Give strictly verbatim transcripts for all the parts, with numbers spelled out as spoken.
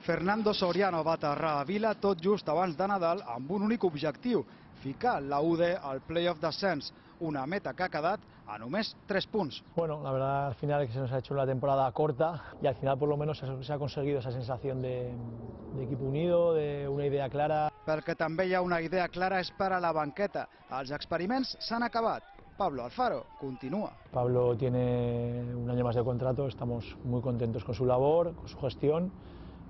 Fernando Soriano va aterrar a Vila tot just abans de Nadal amb un únic objectiu, ficar la U D al playoff d'ascens, una meta que ha quedat a només tres punts. Bueno, la verdad al final es que se nos ha hecho una temporada corta y al final por lo menos se ha conseguido esa sensación de, de equipo unido, de una idea clara. Perquè també hi ha una idea clara és per a la banqueta. Els experiments s'han acabat. Pablo Alfaro continúa. Pablo tiene un año más de contrato, estamos muy contentos con su labor, con su gestión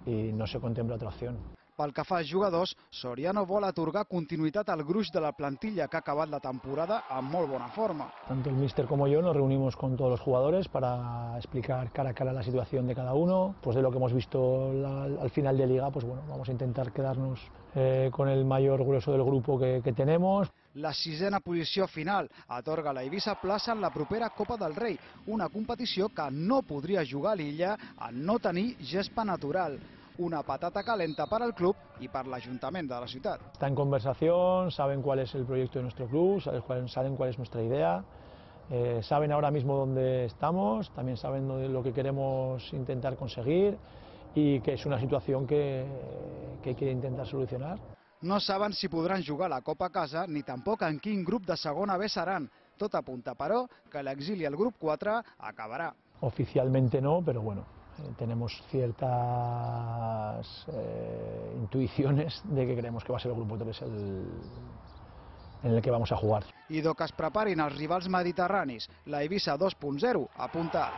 y no se contempla otra opción. Pel que fa als jugadors, Soriano vol atorgar continuïtat al gruix de la plantilla que ha acabat la temporada amb molt bona forma. Tanto el míster como yo nos reunimos con todos los jugadores para explicar cara a cara la situación de cada uno. Pues de lo que hemos visto la, al final de liga, pues bueno, vamos a intentar quedarnos eh, con el mayor grueso del grupo que, que tenemos. La sisena posició final atorga a la Eivissa plaça en la propera Copa del Rei, una competició que no podria jugar a l'Illa en no tenir gespa natural. Una patata calenta para el club y para el ayuntamiento de la ciudad. Está en conversación, saben cuál es el proyecto de nuestro club, saben cuál es nuestra idea, eh, saben ahora mismo dónde estamos, también saben lo que queremos intentar conseguir y que es una situación que, que hay que intentar solucionar. No saben si podran jugar la Copa a casa ni tampoc en quin grup de segona B seran. Tot apunta, però, que l'exili al grup quatre acabarà. Oficialmente no, pero bueno. Eh, tenemos ciertas eh, intuiciones de que creemos que va a ser el grupo tres el, en el que vamos a jugar. I do que es preparin els rivals mediterranis, la Eivissa dos punt zero apunta.